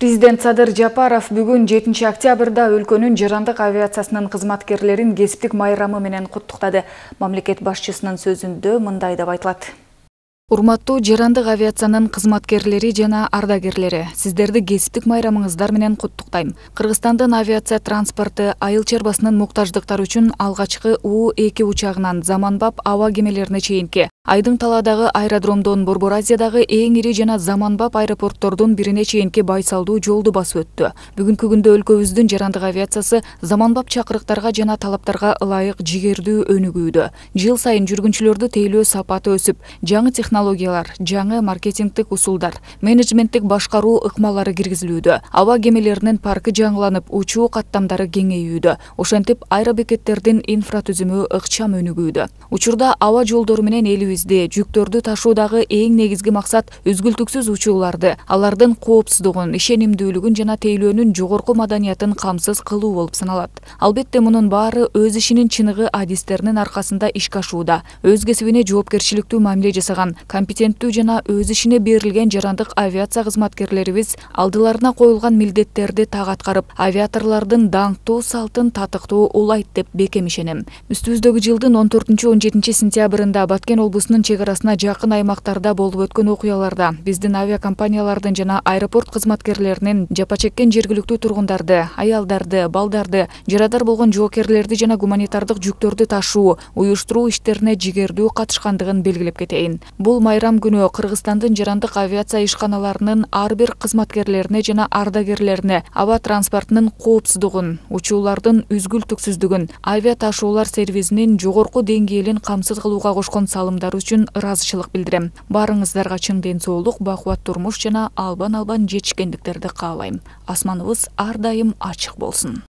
Президент Садыр Жапаров бүгүн 7 октябрда өлкөнүн жарандык авиациясынын кызматкерлерин кесиптик майрамы менен куттуктады. Мамлекет башчысынын сөзүндө мындай деп айтылат. Урматтуу жарандык авиациянын кызматкерлери жана ардагерлери, сиздерди кесиптик майрамыңыздар менен куттуктайм. Кыргызстандын авиация транспорту айыл чарбасынын муктаждыктары үчүн алгачкы У-2 учагынан заманбап аба кемелерине чейинки, айдың таладагы аэродромдон Борбор Азиядагы эң ири жана заманбап аэропорттордун бирине чейинки байсалдуу жолду басып өттү. Бүгүнкү күндө өлкөбүздүн жарандык авиациясы заманбап чакырыктарга жана талаптарга ылайык жигердүү өнүгүүдө. Жыл сайын жүргүнчүлөрдү тейлөө сапаты өсүп, жаңы технологиялар, жаңы маркетингдик усулдар, менеджменттик башкаруу ыкмалары киргизилүүдө. Аба кемелеринин паркы жаңыланып, учуу каттамдары кеңейүүдө. Ошентип, аэробекеттердин инфратүзүмү ыкчам өнүгүүдө. Учурда аба жолдору менен элибизде жүктөрдү ташуудагы эң негизги максат үзгүлтүксүз учууларды, алардын коопсуздугун, ишенимдүүлүгүн жана тейлөөнүн жогорку маданиятын камсыз кылуу болуп саналат. Албетте, мунун баары өз ишинин чыныгы адистеринин аркасында ишке ашууда. Өз кесибине жоопкерчиликтүү мамиле жасаган, компетенттүү жана өз ишине берилген жарандык авиация кызматкерлерибиз алдыларына коюлган милдеттерди так аткарып, авиаторлордун даңктуу салтын татыктуу улайт деп бекем ишенем. Үстүбүздөгү жылдын 14-17 сентябрында Баткен облусунун чек арасына жакын аймактарда болуп өткөн окуяларда биздин авиакомпаниялардын жана аэропорт кызматкерлеринин жапа чеккен жергиликтүү тургундарды, аялдарды, балдарды, жарадар болгон жоокерлерди жана гуманитардык жүктөрдү ташуу, уюштуруу иштерине жигердүү катышкандыгын белгилеп кетейин. Бул майрам күнү Кыргызстандын жарандык авиация ишканаларынын ар бир кызматкерлерине жана ардагерлерине аба транспортунун коопсуздугун, учуулардын үзгүлтүксүздүгүн, авиа ташуулар сервисинин жогорку деңгээлин камсыз кылууга кошкон салымдары үчүн ыраазычылык билдирем. Баарыңыздарга чың ден соолук, бакубат турмуш жана албан жетишкендиктерди каалайм. Асманыбыз ар дайым ачык болсун.